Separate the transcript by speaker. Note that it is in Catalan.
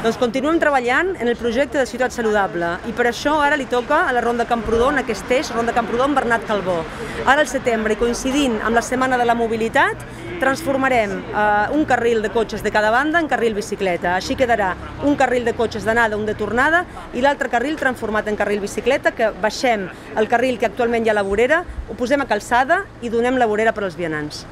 Speaker 1: Doncs continuem treballant en el projecte de Ciutat Saludable i per això ara li toca a la Ronda Camprodon aquest eix, Ronda Camprodon Bernat Calbó. Ara al setembre, coincidint amb la Setmana de la Mobilitat, transformarem un carril de cotxes de cada banda en carril bicicleta. Així quedarà un carril de cotxes d'anada, un de tornada i l'altre carril transformat en carril bicicleta, que baixem el carril que actualment hi ha a la vorera, ho posem a calçada i donem la vorera per als vianants.